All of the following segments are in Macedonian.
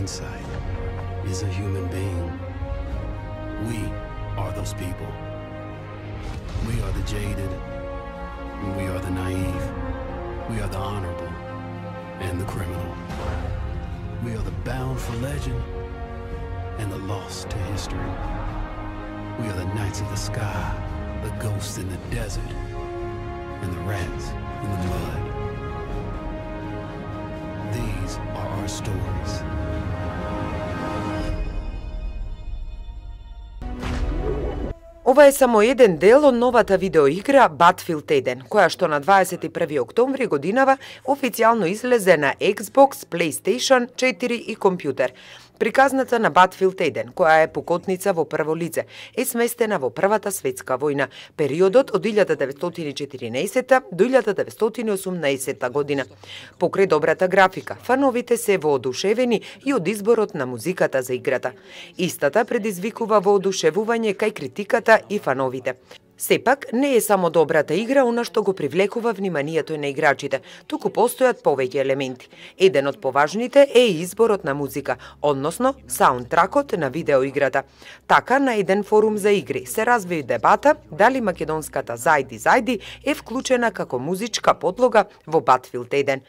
inside is a human being. We are those people. We are the jaded. We are the naive. We are the honorable and the criminal. We are the bound for legend and the lost to history. We are the knights of the sky, the ghosts in the desert, and the rats in the mud. These are our stories. Ова е само еден дел од новата видеоигра Battlefield 1, која што на 21 октомври годинава официјално излезе на Xbox, PlayStation 4 и компјутер. Приказната на Battlefield 1, која е покотница во прво лице, е сместена во Првата светска војна, периодот од 1914 до 1918 година. Покрај добрата графика, фановите се воодушевени и од изборот на музиката за играта. Истата предизвикува воодушевување кај критиката и фановите. Сепак, не е само добрата игра она што го привлекува вниманието на играчите, туку постојат повеќе елементи. Еден од поважните е изборот на музика, односно саундтракот на видеоиграта. Така, на еден форум за игри се разви дебата дали македонската Зајди Зајди е вклучена како музичка подлога во Battlefield 1.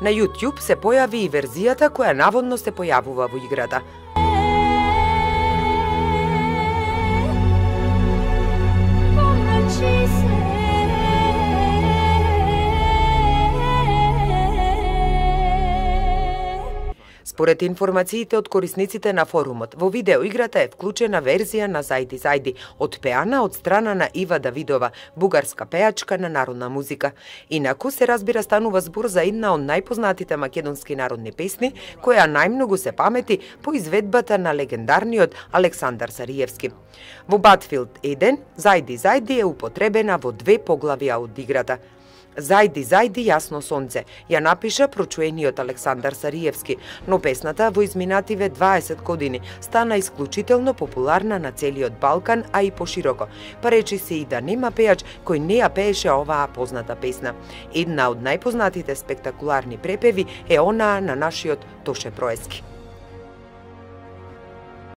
На YouTube се појави и верзијата која наводно се појавува во играта. Според информациите од корисниците на форумот, во видеоиграта е вклучена верзија на Зајди Зајди, отпеана од страна на Ива Давидова, бугарска пејачка на народна музика. Инаку се разбира станува збор за една од најпознатите македонски народни песни, која најмногу се памети по изведбата на легендарниот Александар Сариевски. Во Battlefield 1, Зајди Зајди е употребена во 2 поглавија од играта. Зајди, зајди, јасно сонце, ја напиша прочуениот Александар Сариевски, но песната во изминативе 20 години стана исклучително популарна на целиот Балкан, а и пошироко, па речи се и да нема пејач кој не ја пееше оваа позната песна. Една од најпознатите спектакуларни препеви е онаа на нашиот Тоше Проески.